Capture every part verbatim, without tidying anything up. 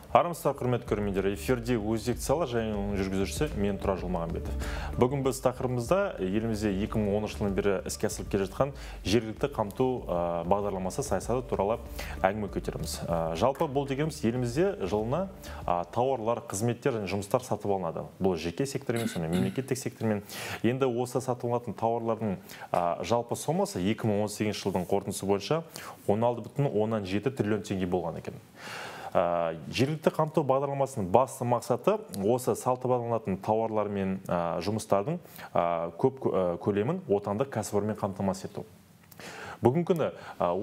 Армысыздар, құрметті көрермендер, эфирде өзекті сала және оның жүргізушісі мен Тұрар Жылмағанбетов. Бүгін біз тақырыбымызда елімізде екі мың оныншы жылдан бері іске асырылып келе жатқан жергілікті қамту бағдарламасы саясаты туралы әңгіме көтереміз. Жалпы бұл дегеніміз елімізде жылына тауарлар, қызметтер және жұмыстар сатып алынады. Бұл жеке сектормен, сонымен мемлекеттік сектормен. Енді осы сатып алынатын тауарлардың жалпы сомасы екі мың он сегізінші жылдың қорытындысы бойынша он алты бүтін оннан жеті триллион теңге болған екен. Жергілікті қамту бағдарламасының басты мақсаты осы сатып алынатын тауарлар мен жұмыстардың көп көлемін отандық кәсіпорынмен қамтамасыз ету. Бүгінгі күні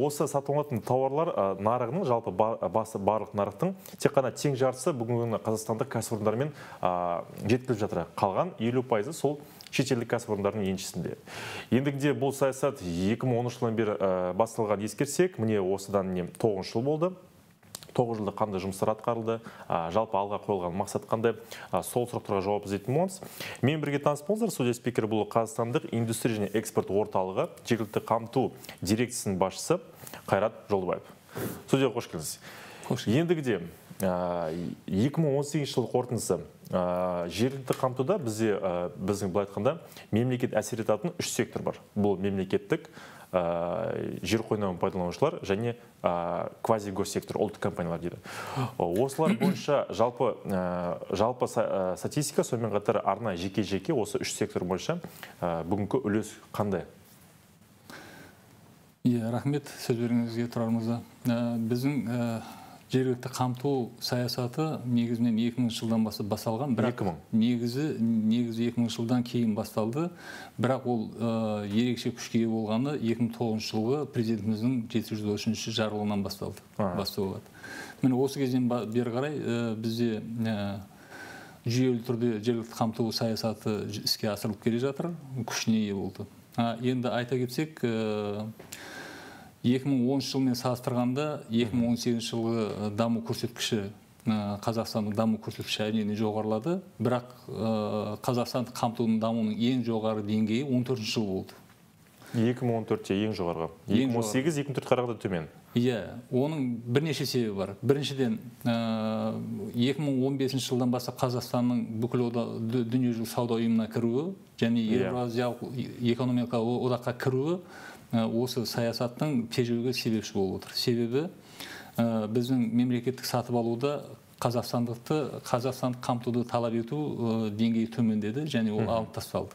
осы сатып алынатын тауарлар нарығының, жалпы басы барлық нарықтың тек қана тең жартысы бүгінгі күні қазақстандық кәсіпорындармен жеткізіліп жатыр. Қалған елу пайызы сол шетелдік кәсіпорындардың еншісінде. Ендігінде бұл саясат екі мың оныншы жылдан бері басталған ескерсек, міне осыдан тоғыз жыл болды. тоғыз жылда қандай жұмыстар атқарылды, жалпы алға қойылған мақсат қандай, сол сұрақтарға жауап іздейтін боламыз. Мен бірге таныс болыңыздар, студия спикері бұл Қазақстандық индустрия және экспорт орталығы жергілікті қамту дирекциясының басшысы Қайрат Жолдыбаев. Студияға қош келдіңіз. Ендігіде екі мың он сегізінші жыл қорытындысы жергілікті қамтуда бізде біздің былай айтқанда мемлекет әсер ететін үш сектор бар. Бұл мемлекеттік, жер қойнауын пайдаланушылар және квазигоссектор, ұлттық компаниялар дейді. Осылар бойынша жалпы жалпы статистика, сонымен қатар арнайы жеке-жеке осы үш сектор бойынша бүгінгі үлес қандай? Иә, рахмет сөз беруіңізге, Тұрар мырза. Біздің жергілікті қамту саясаты негізінен екі мыңыншы жылдан бастап басталған, бірақ негізі негізі екі мыңыншы жылдан кейін басталды. Бірақ ол ерекше күшке ие болғаны екі мың тоғызыншы жылғы президентіміздің жеті жүз отыз үшінші жарлығынан басталды. Басталды. Міне осы кезден бері қарай бізде жүйелі түрде жергілікті қамту саясаты іске асырылып келе жатыр, күшіне ие болды. Енді айта кетсек, екі мың оныншы жылмен салыстырғанда екі мың он сегізінші жылғы даму көрсеткіші, Қазақстанның даму көрсеткіші әрине жоғарылады, бірақ Қазақстандық қамтудың дамуының ең жоғары деңгейі он төртінші жыл болды. екі мың он төртте ең жоғарғы. екі мың он сегіз екі мың он төрт қарағанда төмен. Иә, оның бірнеше себебі бар. Біріншіден, екі мың он бесінші жылдан бастап Қазақстанның бүкіл дүниежүзілік сауда ұйымына кіруі және Еуразиялық экономикалық одаққа кіруі осы саясаттың тежеуге себепші болып отыр. Себебі біздің мемлекеттік сатып алуда қазақстандықты, қазақстандық қамтуды талап ету деңгейі төмендеді және ол алып тасталды.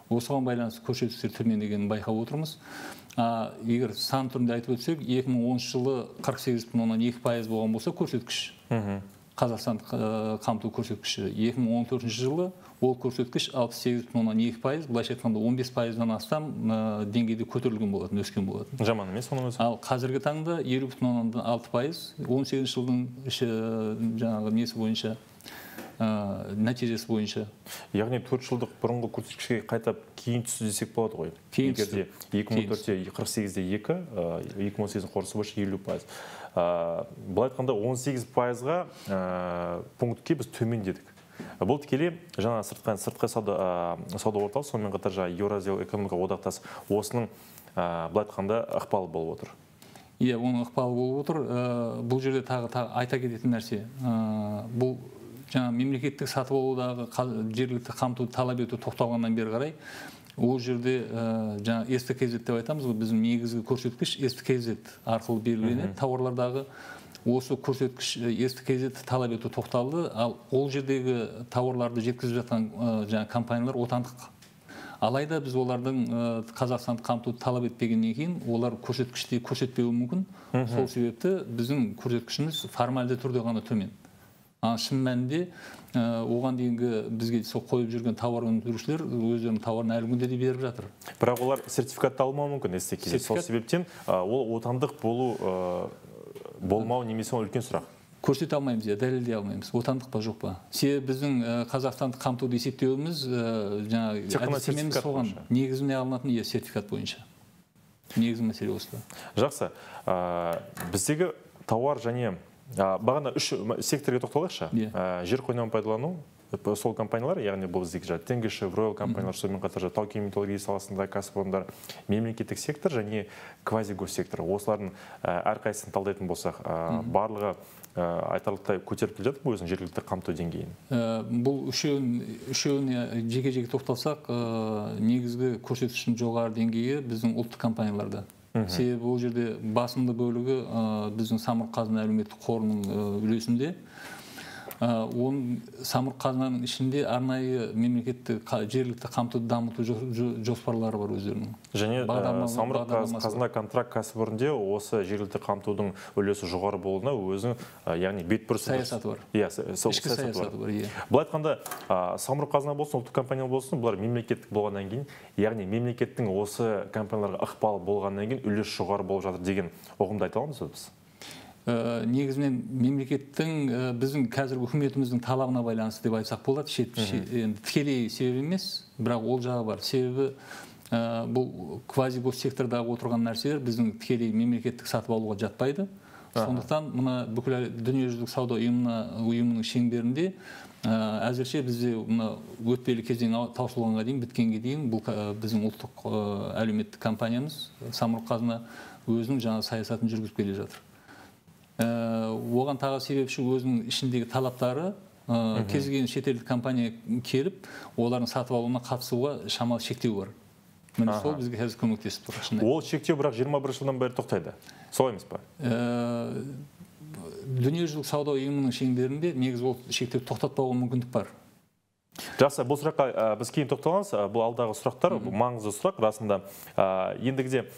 Осыған байланысты көрсеткіштер төмендегенін байқап отырмыз. Егер сан түрінде айтып өтсек, екі мың оныншы жылы қырық сегіз бүтін оннан екі пайыз болған болса көрсеткіш. Қазақстандық қамту көрсеткіші. екі мың он төртінші жылы ол көрсеткіш алпыс сегіз бүтін оннан екі пайыз, былайша айтқанда он бес пайыздан астам деңгейде көтерілген болатын, өскен болатын. Жаман емес оның өзі. Ал қазіргі таңда елу бүтін оннан алты пайыз, он сегізінші жылдың жаңағы несі бойынша, нәтижесі бойынша. Яғни төрт жылдық бұрынғы көрсеткішке қайтап кейін түсті десек болады ғой. Кейін түсті. екі мың он төртте қырық сегізде екі, екі мың он сегіздің қорытындысы бойынша елу пайыз. Былай айтқанда он сегіз пайызға пунктке біз төмендедік. Бұл тікелей жаңа сыртқы сауда орталық, сонымен қатар жаңа Еуразиялық экономикалық одақтас осының былай айтқанда ықпалы болып отыр. Иә, оның ықпалы болып отыр. Бұл жерде тағы айта кететін нәрсе. Бұл жаңа мемлекеттік сатып алудағы жергілікті қамтуды талап ету тоқталғаннан бері қарай, ол жерде жаңа эс тэ ка зет деп айтамыз ғой, біздің негізгі көрсеткіш эс тэ ка зет арқылы белгіленеді. Тауарлардағы осы көрсеткіш эс тэ ка зет талап ету тоқталды, ал ол жердегі тауарларды жеткізіп жатқан жаңа компаниялар отандық. Алайда біз олардың Қазақстандық қамтуды талап етпегеннен кейін, олар көрсеткіште көрсетпеуі мүмкін. Сол себепті біздің көрсеткішіміз формальды түрде ғана төмен. Шын мәнінде оған дейінгі бізге сол қойып жүрген тауар өндірушілер өздерінің тауарын әлі күнде де беріп жатыр. Бірақ олар сертификатты алмауы мүмкін эс тэ ка. Сол себептен ол отандық болу болмау немесе үлкен сұрақ. Көрсете алмаймыз, дәлелдей алмаймыз. Отандық па жоқ па? Себебі біздің Қазақстандық қамтуды есептеуіміз жаңағы әдістемеміз соған негізіне алынатын сертификат бойынша. Негізгі мәселе осылай. Жақсы. Біздегі тауар және бағана үш секторға тоқталайықшы. Жер қойнауын пайдалану, сол компаниялар, яғни бұл біздегі Теңге Шевройл компаниялар, сонымен қатар тау-кен металлургия саласындағы кәсіпорындар, мемлекеттік сектор және квазигоссектор. Осылардың әрқайсысын талдайтын болсақ, барлығы айтарлықтай көтеріп келе жатыр өзінің жергілікті қамту деңгейін. Бұл үшеуіне жеке-жеке тоқталсақ, негізгі көрсеткіштің жоғары деңгейі біздің ұлттық компанияларда. Себебі бұл жерде басымды бөлігі біздің самұрық-қазына әлеуметтік қорының үлесінде. Оның самұрық-қазынаның ішінде арнайы мемлекеттік жергілікті қамтуды дамыту жоспарлары бар өздерінің. Және самұрық-қазына контракт кәсіпорынде осы жергілікті қамтудың үлесі жоғары болуына өзінің, яғни бетбұрыс саясаты бар. Ішкі саясаты бар. Бұл айтқанда, самұрық-қазына болсын, ұлттық компания болсын, бұлар мемлекеттік болғаннан кейін, яғни мемлекеттің осы компанияларға ықпалы болғаннан кейін үлес жоғары болып жатыр деген ұғымды айта аламыз біз? Негізінен мемлекеттің біздің қазіргі үкіметіміздің талабына байланысты деп айтсақ болады. Тікелей себеп емес, бірақ ол жағы бар. Себебі бұл квазигоссектордағы отырған нәрселер біздің тікелей мемлекеттік сатып алуға жатпайды. Сондықтан мына бүкіл дүниежүзілік сауда ұйымының шеңберінде әзірше бізде өтпелі кезең таусылғанға дейін, біткенге дейін бұл біздің ұлттық әлеуметтік компаниямыз самұрық-қазына өзінің жаңа саясатын жүргізіп келе жатыр. Оған тағы себепші өзінің ішіндегі талаптары, кез келген шетелдік компания келіп, олардың сатып алуына қатысуға шамалы шектеу бар. Міне сол бізге қазір көмектесіп тұр. Ол шектеу бірақ жиырма бірінші жылдан бері тоқтайды. Солай емес па? Дүниежүзілік сауда ұйымының шеңберінде негізі ол шектеу тоқтатпауға мүмкіндік бар. Жақсы, бұл сұраққа біз кейін тоқталамыз. Бұл алдағы сұрақтар, бұл маңызды сұрақ расында. Ендігіде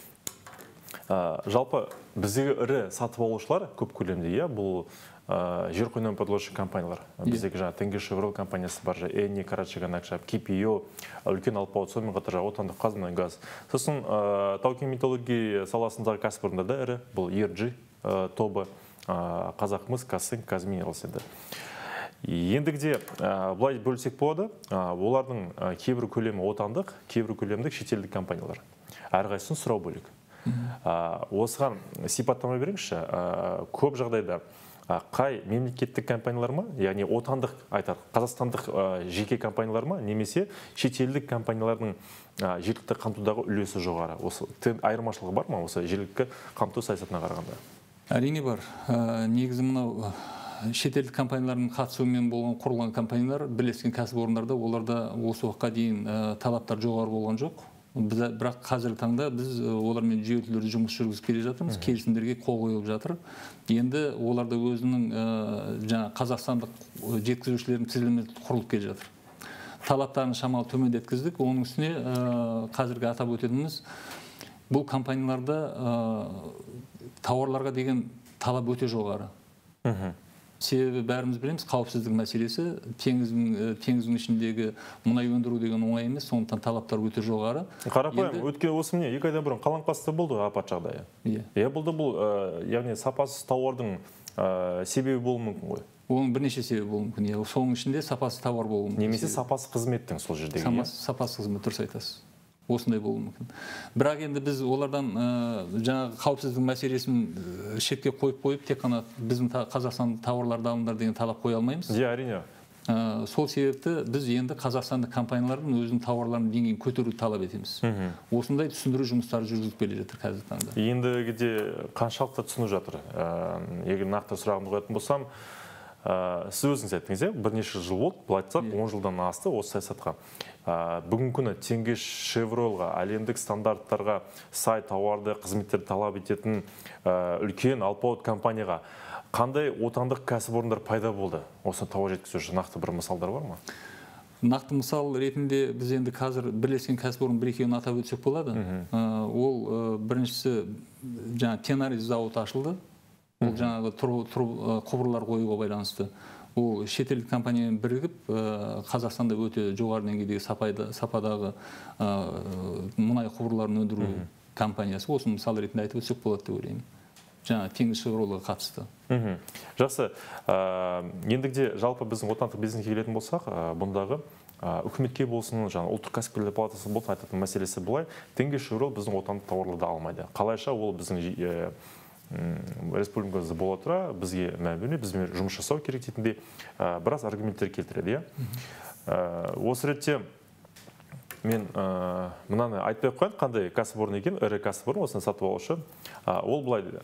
жалпы біздегі ірі сатып алушылар көп көлемде, бұл жер қойнауын пайдаланушы компаниялар. Біздегі жаңа Теңге Шевройл компаниясы бар, Энни, Карачаганакшап, Кипио, үлкен алпауыт, сонымен қатар отандық Қазмұнайгаз. Сосын тау-кен металлургия саласындағы кәсіпорындар да ірі, бұл и эр джи тобы, Қазақмыс, Казцинк, Казминералс еді. Ендігіде бұлай бөлсек болады, олардың кейбір көлемі отандық, кейбір көлемдік шетелдік компаниялар. Әрқайсысын сұрау бөлек. Осыған сипаттама беріңізші, көп жағдайда қай мемлекеттік компаниялар ма, яғни отандық айтар, қазақстандық жеке компаниялар ма, немесе шетелдік компаниялардың жергілікті қамтудағы үлесі жоғары? Осы айырмашылығы бар ма осы жергілікті қамту саясатына қарағанда? Әрине бар. Негізі мынау шетелдік компаниялардың қатысуымен болған құрылған компаниялар, бірлескен кәсіпорындарда, оларда осы уақытқа дейін талаптар жоғары болған жоқ. Бірақ қазіргі таңда біз олармен жүйелі жұмыс жүргізіп келе жатырмыз, келісімдерге қол қойылып жатыр. Енді оларда өзінің жаңа қазақстандық жеткізушілердің тізілімі құрылып келе жатыр. Талаптарын шамалы төмендеткіздік. Оның үстіне қазіргі атап өтетініміз, бұл компанияларда тауарларға деген талап өте жоғары. Себебі бәріміз білеміз, қауіпсіздік мәселесі, теңіздің ішіндегі мұнай өндіру деген оңай емес, сондықтан талаптар өте жоғары. Қарапайым, өткен осы міне, екі айдан бұрын Қаламқаста болды апат жағдайы. Иә, болды бұл, яғни сапасыз тауардың себебі болуы мүмкін ғой? Оның бірнеше себебі болуы мүмкін. Соның ішінде сапасыз тауар болуы мүмкін. Немесе сапасыз қызметтің сол жердегі. Сапасыз қызмет, дұрыс айтасыз. Осындай болуы мүмкін. Бірақ енді біз олардан жаңағы қауіпсіздік мәселесін шетке қойып қойып, тек қана біздің Қазақстан тауарларды алыңдар деген талап қоя алмаймыз. Иә, әрине. Сол себепті біз енді қазақстандық компаниялардың өзінің тауарларының деңгейін көтеруді талап етеміз. Осындай түсіндіру жұмыстары жүргізіп келе жатыр қазіргі таңда. Ендігіде қаншалықты түсініп жатыр? Егер нақты сұрағымды қоятын болсам, сіз өзіңіз айттыңыз, бірнеше жыл болды, бұл айтсақ, он жылдан асты осы саясатқа. Бүгінгі күні Теңге Шевройлға, әлемдік стандарттарға сай тауарды, қызметтерді талап ететін үлкен алпауыт компанияға қандай отандық кәсіпорындар пайда болды? Осы тауар жеткізуші нақты бір мысалдар бар ма? Нақты мысал ретінде біз енді қазір бірлескен кәсіпорын бір-екеуін атап өтсек болады. Ол біріншісі жаңа Тенарис зауыты ашылды. Ол жаңағы құбырлар қоюға байланысты. Ол шетелдік компаниямен бірігіп, Қазақстанда өте жоғары деңгейдегі сападағы мұнай құбырларын өндіру компаниясы. Осы мысал ретінде айтып өтсек болады деп ойлаймын. Жаңа Теңге Шевройлға қатысты. Жақсы. Ендігіде жалпы біздің отандық бизнеске келетін болсақ, бұндағы үкіметке болсын, жаңа ұлттық кәсіпкерлер палатасы болсын, айтатын мәселесі былай. Теңге Шевройл біздің отандық тауарларды алмайды. Қалайша ол біздің республикамызда бола тұра бізге мәміле, бізбен жұмыс жасау керек дейтіндей біраз аргументтер келтіреді. Осы ретте мен мынаны айтпай қойын, қандай кәсіпорын екен, ірі кәсіпорын, осыны сатып алушы. Ол былай дейді.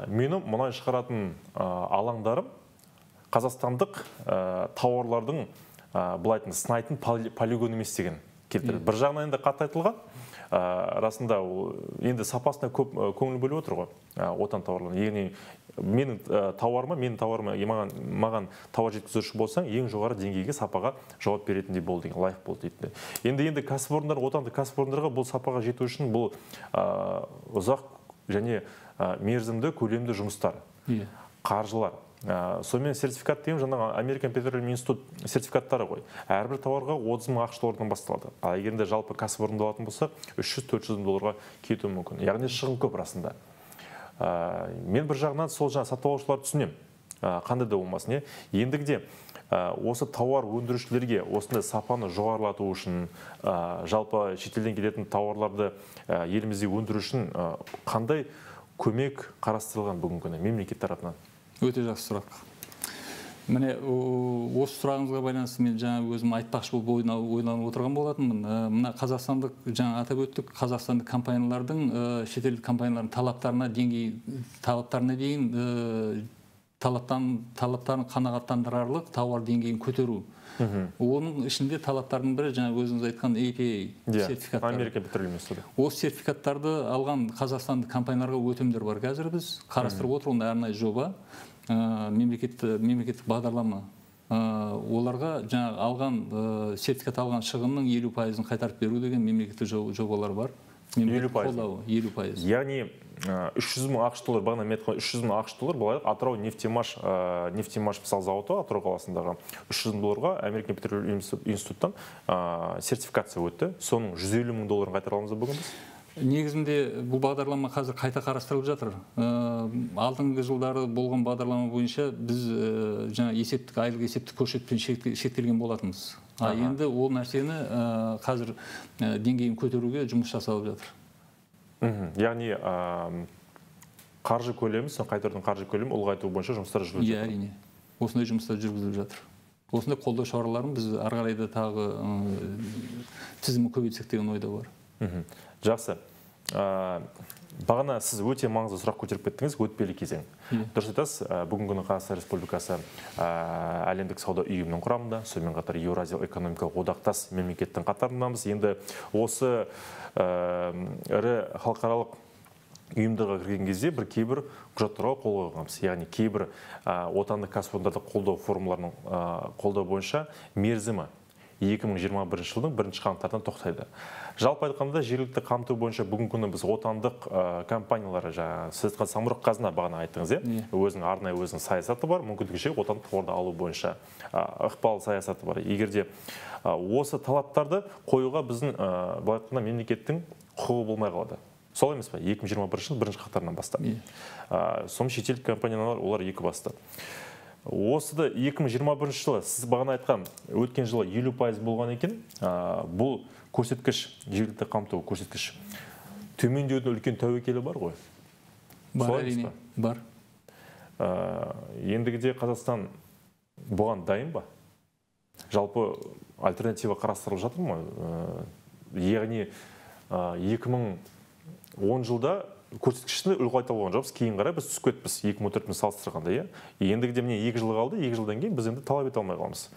Менің мұнай шығаратын алаңдарым қазақстандық тауарлардың былайтын сынайтын полигон емес деген келтіреді. Бір жағынан енді қатты айтылған, расында енді сапасына көп көңіл бөліп отыр ғой, отан тауарларын. Яғни менің тауарыма, менің тауарыма маған тауар жеткізуші болсаң, ең жоғары деңгейге сапаға жауап беретіндей бол деген, лайық бол дейді. Енді енді кәсіпорындар, отандық кәсіпорындарға бұл сапаға жету үшін бұл ұзақ және мерзімді көлемді жұмыстар, қаржылар. Сонымен сертификат деймін, жаңағы Американ Петролиум институт сертификаттары ғой. Әрбір тауарға отыз мың ақш доллардан басталады. А егерде жалпы кәсіпорынды алатын болса, үш жүз төрт жүз мың долларға кетуі мүмкін. Яғни шығын көп расында. Мен бір жағынан сол жаңа сатып алушыларды түсінем. Қандай да болмасын. Ендігіде осы тауар өндірушілерге осындай сапаны жоғарылату үшін, жалпы шетелден келетін тауарларды елімізде өндіру үшін қандай көмек қарастырылған бүгінгі күні мемлекет тарапынан? Өте жақсы сұрақ. Міне, осы сұрағыңызға байланысты мен жаңа өзім айтпақшы болып ойланып отырған болатынмын. Мына қазақстандық, жаңа атап өттік, қазақстандық компаниялардың, шетелдік компаниялардың талаптарына деңгей, талаптарына дейін талаптарын қанағаттандырарлық тауар деңгейін көтеру. Оның ішінде талаптардың бірі жаңа өзіңіз айтқан эй пи эй сертификаттары. Америка Петролиум институты. Осы сертификаттарды алған қазақстандық компанияларға өтімдер бар. Қазір біз қарастырып отырған арнайы жоба, мемлекеттік бағдарлама. Оларға жаңа алған сертификат алған шығынның елу пайызын қайтарып беру деген мемлекеттік жобалар бар. елу пайыз. елу пайыз. Яғни үш жүз мың ақш доллар, бағана мен айтқан үш жүз мың ақш доллар, былай Атырау нефтемаш нефтемаш мысал зауыты Атырау қаласындағы үш жүз мың долларға Американ Петролиум институттан сертификация өтті. Соның жүз елу мың долларын қайтара аламыз бүгін біз? Негізінде бұл бағдарлама қазір қайта қарастырылып жатыр. Алдыңғы жылдары болған бағдарлама бойынша біз жаңа есептік, айлық есептік көрсеткішпен шектелген болатынбыз. Енді ол нәрсені қазір деңгейін көтеруге жұмыс жасалып жатыр. Яғни қаржы көлемі, сон қайтарудың қаржы көлемі ұлғайту бойынша жұмыстар жүргізіліп жатыр. Әрине. Осындай жұмыстар жүргізіліп жатыр. Осындай қолдау шараларын біз ары қарай да тағы тізімі көбейтсек деген ойда бар. Жақсы. Бағана сіз өте маңызды сұрақ көтеріп кеттіңіз, өтпелі кезең. Дұрыс айтасыз, бүгінгі күні Қазақстан Республикасы әлемдік сауда ұйымының құрамында, сонымен қатар Еуразиялық экономикалық одақтас мемлекеттің қатарындамыз. Енді осы ірі халықаралық ұйымдарға кірген кезде бір кейбір құжаттарға қол қойғанбыз. Яғни кейбір отандық кәсіпорындарды қолдау формуларының қолдау бойынша мерзімі екі мың жиырма бірінші жылдың бірінші қаңтардан тоқтайды. Жалпы айтқанда жергілікті қамту бойынша бүгінгі күні біз отандық компаниялары, сіз айтқан Самұрық Қазына бағана айттыңыз, өзінің арнайы өзінің саясаты бар, мүмкіндігінше отандық тауарды алу бойынша ықпал саясаты бар. Егерде осы талаптарды қоюға біздің былай айтқанда мемлекеттің құқығы болмай қалады. Сол емес пе? екі мың жиырма бірінші жыл бірінші қаңтардан бастап. Соң шетелдік компаниялар олар екі басты. Осыда екі мың жиырма бірінші жылы сіз бағана айтқан өткен жылы елу пайыз болған екен, бұл көрсеткіш, жергілікті қамту көрсеткіш төмендеудің үлкен тәуекелі бар ғой? Бар, әрине, бар. Ендігіде Қазақстан бұған дайын ба? Жалпы альтернатива қарастырылып жатыр ма? Яғни екі мың он жылда көрсеткішті ұлғайта болған жоқпыз, кейін қарай біз түсіп кетіппіз екі мың он төртпен салыстырғанда. Ендігіде міне екі жыл қалды, екі жылдан кейін біз енді талап ете алмай қаламыз.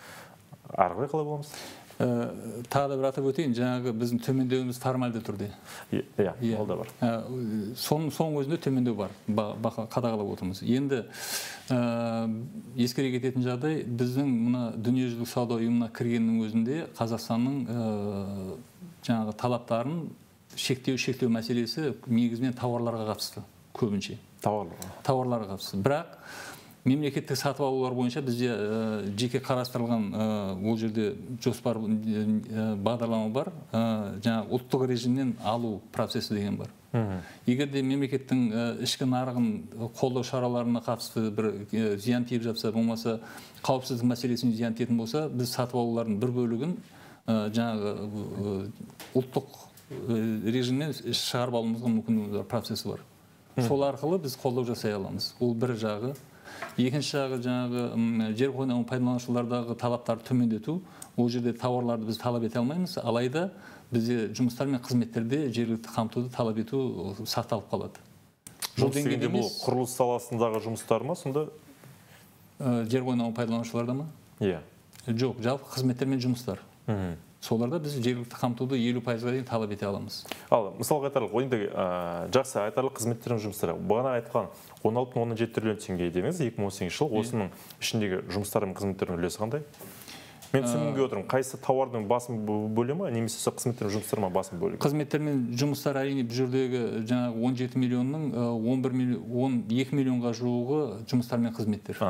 Ары қарай қалай боламыз? Тағы да бір атап өтейін, жаңағы біздің төмендеуіміз формальды түрде. Иә, ол да бар. Соның өзінде төмендеу бар, қадағалап отырмыз. Енді ескере кететін жағдай, біздің мына дүниежүзілік сауда ұйымына кіргеннің өзінде Қазақстанның жаңағы талаптарын шектеу шектеу мәселесі негізінен тауарларға қатысты, көбінше. Тауарларға. Тауарларға қатысты. Бірақ мемлекеттік сатып алулар бойынша бізде жеке қарастырылған ол жерде жоспар бағдарлама бар, жаңағы ұлттық режимнен алу процесі деген бар. Егерде мемлекеттің ішкі нарығын қолдау шараларына қатысты бір зиян тиіп жатса, болмаса қауіпсіздік мәселесіне зиян тиетін болса, біз сатып алулардың бір бөлігін жаңағы ұлттық режимнен шығарып алуымызға мүмкіндігі процесі бар. сол арқылы біз қолдау жасай аламыз. Ол бір жағы. Екінші жағы жаңағы жер қойнауын пайдаланушылардағы талаптарды төмендету. Ол жерде тауарларды біз талап ете алмаймыз, алайда бізде жұмыстар мен қызметтерде жергілікті қамтуды талап ету сақталып қалады. Жұмыс дегенде бұл құрылыс саласындағы жұмыстар ма, сонда? Жер қойнауын пайдаланушыларда ма? Иә. Жоқ, жалпы қызметтер мен жұмыстар. Соларда біз жергілікті қамтуды елу пайызға дейін талап ете аламыз. Ал, мысалға айтарлық, ойында жақсы айтарлық қызметтер мен жұмыстары. Бағана айтқан он алты бүтін оннан жеті триллион теңге деңіз, екі мың он сегізінші жыл, осының ішіндегі жұмыстар мен қызметтердің үлесі қандай? Мен түсінуге отырмын, қайсы тауардың басым бөлімі, немесе қызметтер мен жұмыстар ма басым бөлігі? Қызметтер мен жұмыстар әрине бұл жердегі жаңағы он жеті миллионның он бір миллион, он екі миллионға жуығы жұмыстар мен қызметтер.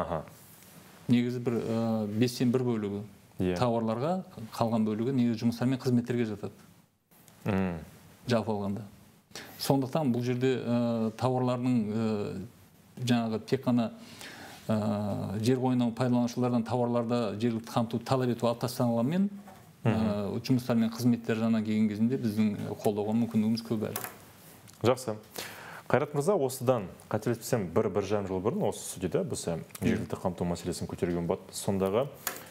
Негізі бір бестен бір бөлігі тауарларға, қалған бөлігі негізі жұмыстар мен қызметтерге жатады. Жалпы алғанда. Сондықтан бұл жерде тауарлардың жаңағы тек қана жер қойнауын пайдаланушылардан тауарларда жергілікті қамтуды талап ету алып тасталғанмен, жұмыстар мен қызметтер жаңа келген кезінде біздің қолдауға мүмкіндігіміз көп әлі. Жақсы. Қайрат мырза, осыдан қателеспесем бір бір жарым жыл бұрын осы студияда біз жергілікті қамту мәселесін көтерген болатын. Сондағы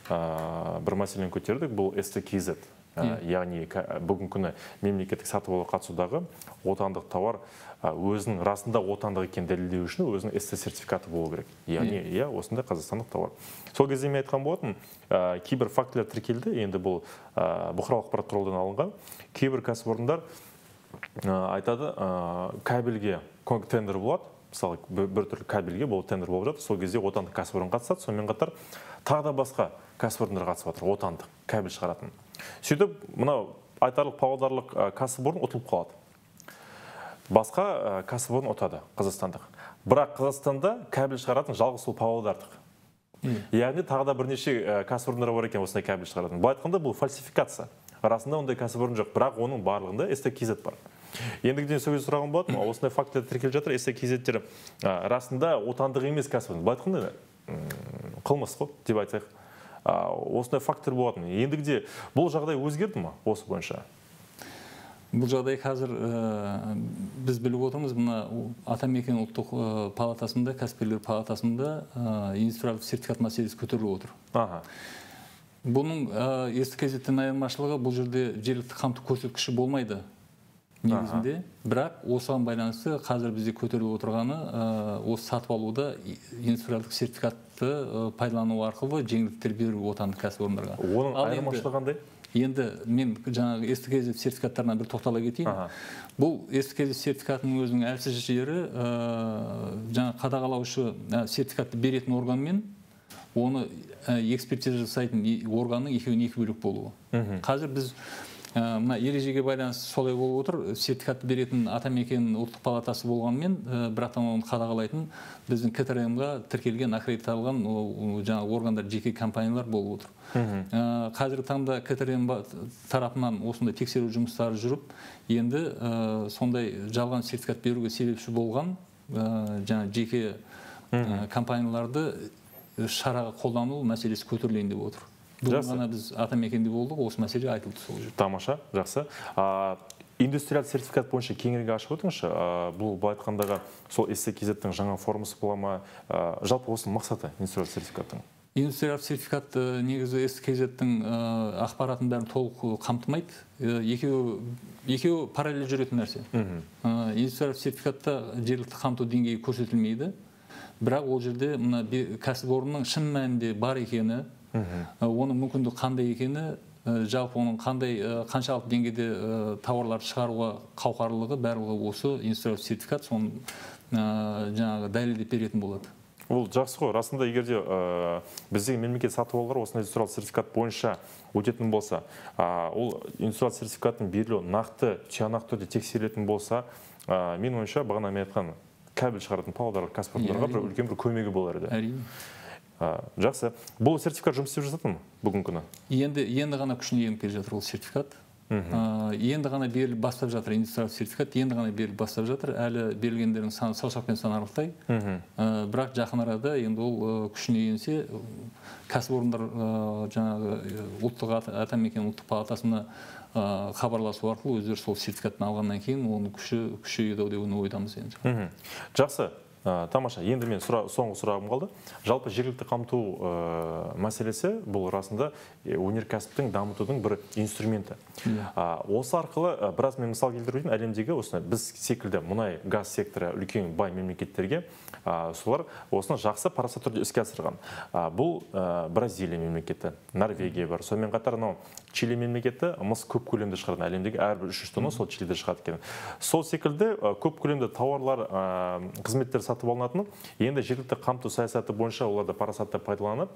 бір мәселені көтердік, бұл эс тэ кей зет. Яғни бүгінгі күні мемлекеттік сатып алуға қатысудағы отандық тауар өзінің расында отандық екенін дәлелдеу үшін өзінің эс тэ сертификаты болу керек. Яғни иә, осындай қазақстандық тауар. Сол кезде мен айтқан болатын, кейбір фактілер тіркелді, енді бұл бұқаралық ақпарат құралынан алынған. Кейбір кәсіпорындар айтады, кабельге тендер болады, мысалы бір түрлі кабельге бұл тендер болып жатыр, сол кезде отандық кәсіпорын қатысады, сонымен қатар тағы да басқа кәсіпорындар қатысып жатыр, отандық кабель шығаратын. Сөйтіп, мынау айтарлық павлодарлық кәсіпорын ұтылып қалады. Басқа кәсіпорын ұтады, қазақстандық. Бірақ Қазақстанда кабель шығаратын жалғыз сол павлодарлық. Яғни тағы да бірнеше кәсіпорындар бар екен осындай кабель шығаратын. Бұл айтқанда бұл фальсификация. Расында ондай кәсіпорын жоқ, бірақ оның барлығында эс тэ кей зет бар. Ендігіден сөз сұрағым болады, осындай фактілер тіркеліп жатыр, эс тэ кей зеттер расында отандық емес кәсіпорын. Бұл айтқанда қылмыс қой деп айтсақ. Осындай фактор болатын. Ендігіде бұл жағдай өзгерді ма осы бойынша? Бұл жағдай қазір біз біліп отырмыз, мына Атамекен ұлттық палатасында, кәсіпкерлер палатасында индустриалдық сертификат мәселесі көтеріліп отыр. Бұның эс тэ кей зеттен айырмашылығы, бұл жерде жергілікті қамту көрсеткіші болмайды негізінде, бірақ осыған байланысты қазір бізде көтеріліп отырғаны осы сатып алуда индустриалдық сертификатты пайдалану арқылы жеңілдіктер беру отандық кәсіпорындарға. Оның айырмашылығы қандай? Енді мен жаңағы эс тэ кей зет сертификаттарына бір тоқтала кетейін. Бұл эс тэ кей зет сертификатының өзінің әлсіз жері жаңа қадағалаушы сертификатты беретін органмен оны экспертиза жасайтын органның екеуіне екі бөлек болуы. Қазір біз мына ережеге байланысты солай болып отыр. Сертификатты беретін Атамекен ұлттық палатасы болғанмен, бірақтан оны қадағалайтын біздің ка тэ эр эм-ға тіркелген, аккредиталған жаңа органдар, жеке компаниялар болып отыр. Қазіргі таңда ка тэ эр эм тарапынан осындай тексеру жұмыстары жүріп, енді сондай жалған сертификат беруге себепші болған жаңа жеке компанияларды шараға қолдану мәселесі көтерілейін деп отыр. Бүгін ғана біз Атамекенде болдық, осы мәселе айтылды сол жерде. Тамаша, жақсы. Индустриалды сертификат бойынша кеңірек ашып өтіңізші. Бұл бұл айтқандағы сол эс тэ кей зеттің жаңа формасы бола ма? Жалпы осының мақсаты индустриалды сертификаттың? Индустриалды сертификат негізі эс тэ кей зеттің ақпаратын бәрін толық қамтымайды. Екеуі параллель жүретін нәрсе. Индустриалды сертификатта жергілікті қамту деңгейі көрсетілмейді. Бірақ ол жерде кәсіпорынның шын мәнінде бар екені, оның мүмкіндік қандай екені, жалпы оның қандай қаншалық деңгейде тауарлар шығаруға қауқарлығы барлығы осы индустриалды сертификат соны жаңағы дәлелдеп беретін болады. Ол жақсы ғой. Расында егерде біздегі мемлекет сатып алулар осындай индустриалды сертификат бойынша өтетін болса, ол индустриалды сертификаттың берілуі нақты, тиянақты түрде тексерілетін болса, мен ойымша бағана мен айтқан кабель шығаратын павлодарлық кәсіпорындарға бір үлкен бір көмегі болар еді. Әрине. Жақсы. Бұл сертификат жұмыс істеп жатыр ма бүгінгі күні? Енді енді ғана күшіне еніп келе жатыр ол сертификат. Енді ғана беріліп бастап жатыр индустриалдық сертификат, енді ғана беріліп бастап жатыр. Әлі берілгендердің саны саусақпен санарлықтай. Бірақ жақын арада енді ол күшіне енсе, кәсіпорындар жаңағы ұлттық Атамекен ұлттық палатасына хабарласу арқылы өздері сол сертификатын алғаннан кейін оны күші күшейеді ау деп ойдамыз енді. Жақсы. Тамаша, енді мен соңғы сұрағым қалды. Жалпы жергілікті қамту мәселесі бұл расында өнеркәсіптің дамытудың бір инструменті. Осы арқылы біраз мен мысал келтірейін, әлемдегі осыны біз секілді мұнай газ секторы үлкен бай мемлекеттерге солар осыны жақсы парасат түрде іске асырған. Бұл Бразилия мемлекеті, Норвегия бар. Сонымен қатар Чили мемлекеті мыс көп көлемді шығарған, әлемдегі әрбір үш жүз тонна сол Чилиде шығады екен. Сол секілді көп көлемді тауарлар, қызметтер сатып алынатын, енді жергілікті қамту саясаты бойынша оларды парасатты пайдаланып,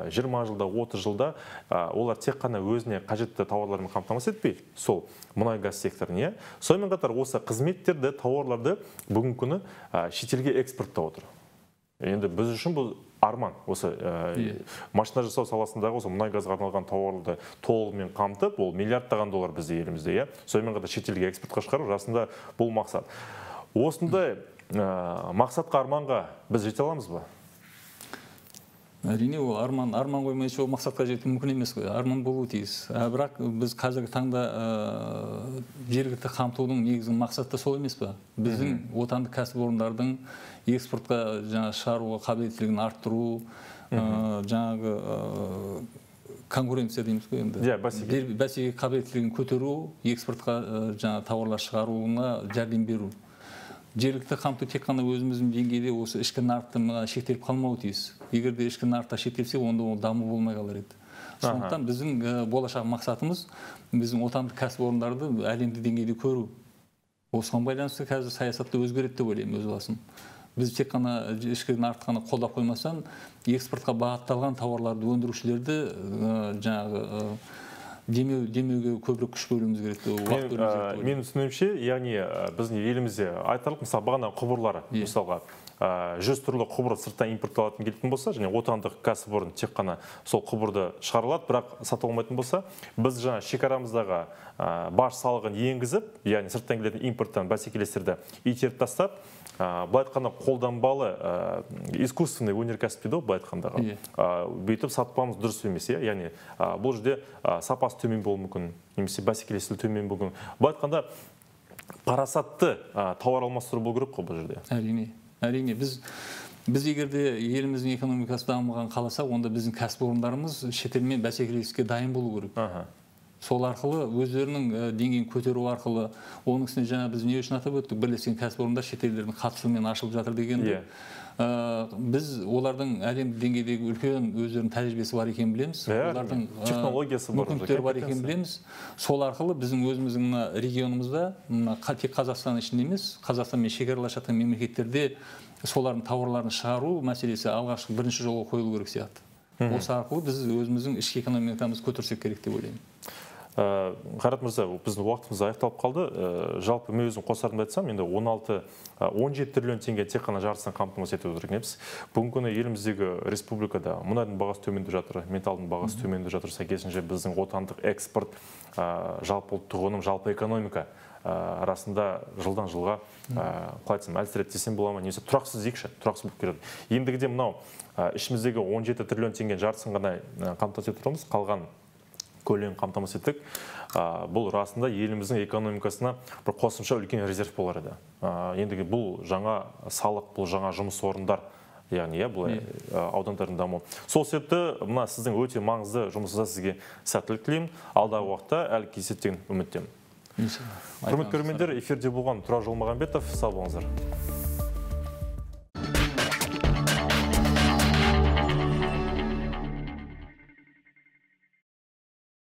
жиырма жылда, отыз жылда олар тек қана өзіне қажетті тауарлармен қамтамасыз етпей, сол мұнай газ секторын, сонымен қатар осы қызметтерді, тауарларды бүгінгі күні шетелге экспорттап отыр. Енді біз үшін бұл арман, осы машина жасау саласындағы осы мұнай газға арналған тауарларды толығымен қамтып, ол миллиардтаған доллар бізде елімізде, сонымен қатар шетелге экспортқа шығару, расында бұл мақсат. Осындай мақсатқа, арманға біз жете аламыз ба? Әрине, ол арман, арман қоймайынша ол мақсатқа жету мүмкін емес қой, арман болуы тиіс. Бірақ біз қазіргі таңда жергілікті қамтудың негізгі мақсаты сол емес па? Біздің отандық кәсіпорындардың экспортқа шығаруға қабілеттілігін арттыру, жаңағы конкуренция дейміз ғой енді. Бәсеке қабілеттілігін көтеру, экспортқа жаңа тауарлар шығаруына жәрдем беру. Жергілікті қамту тек қана өзіміздің деңгейде осы ішкі нарықта шектеліп қалмауы тиіс. Егер де ішкі нарықта шектелсе, онда ол даму болмай қалар еді. Сондықтан біздің болашақ мақсатымыз біздің отандық кәсіпорындарды әлемдік деңгейде көру. Осыған байланысты қазір саясатты өзгереді деп ойлаймын өз басым. Біз тек қана ішкі нарықты ғана қолдап қоймастан, экспортқа бағытталған тауарларды өндірушілерді жаңағы демеуге көбірек күш бөлуіміз керек. Мен түсінуімше, яғни біздің елімізде айтарлық, мысалы бағана құбырлары, мысалға жүз түрлі құбыр сырттан импортталатын келетін болса, және отандық кәсіпорын тек қана сол құбырды шығарылады, бірақ сатып алмайтын болса, біз жаңа шекарамыздағы баж салығын енгізіп, яғни сырттан келетін импорттан бәсекелестерді итеріп тастап, былай айтқанда қолданбалы искусственный өнеркәсіп дейді, былай айтқандағы. Бүйтіп сатпамыз дұрыс емес, яғни бұл жерде сапасы төмен болуы мүмкін, немесе бәсекелестігі төмен болуы мүмкін. Былай айтқанда парасатты тауар алмастыру болу керек қой бұл жерде. Әрине, әрине біз Біз егерде еліміздің экономикасы дамыған қаласа, онда біздің кәсіпорындарымыз шетелмен бәсекелестікке дайын болу керек. Сол арқылы өздерінің деңгейін көтеру арқылы, оның үстіне жаңа біз не үшін атап өттік, бірлескен кәсіпорындар шетелдердің қатысуымен ашылып жатыр дегенде, біз олардың әлемдік деңгейдегі үлкен өздерінің тәжірибесі бар екенін білеміз, олардың технологиясы бар, мүмкіндіктері бар екенін білеміз. Сол арқылы біздің өзіміздің регионымызда, тек Қазақстан ішінде емес, Қазақстанмен шекаралас жатқан мемлекеттерде солардың тауарларын шығару мәселесі алғашқы бірінші жолға қойылу керек сияқты. Осы арқылы біз өзіміздің ішкі экономикамызды көтерсек керек деп ойлаймын. Қайрат мырза, біздің уақытымыз аяқталып қалды. Жалпы мен өзім қосарымды айтсам, енді он алты он жеті триллион теңге тек қана жарыстан қамтамасыз етіп отырмыз. Бүгінгі күні еліміздегі республикада мұнайдың бағасы төмендеп жатыр, металдың бағасы төмендеп жатыр. Сәйкесінше біздің отандық экспорт, жалпы ұлттық өнім, жалпы экономика арасында жылдан жылға қалай айтсам, әлсіреді десем бола ма, немесе тұрақсыз дейікші, тұрақсыз болып келеді. Ендігіде мынау ішіміздегі он жеті триллион теңге жарысын ғана қамтамасыз етіп отырмыз, қалған көлемін қамтамасыз еттік. Бұл расында еліміздің экономикасына бір қосымша үлкен резерв болар еді. Ендігі бұл жаңа салық, бұл жаңа жұмыс орындар, яғни бұл аудандардың даму. Сол себепті мына сіздің өте маңызды жұмысыңызда сізге сәттілік тілеймін. Алдағы уақытта әлі кездесетін үміттемін. Құрметті көрермендер, эфирде болған Тұрар Жолмағанбетов, сау болыңыздар.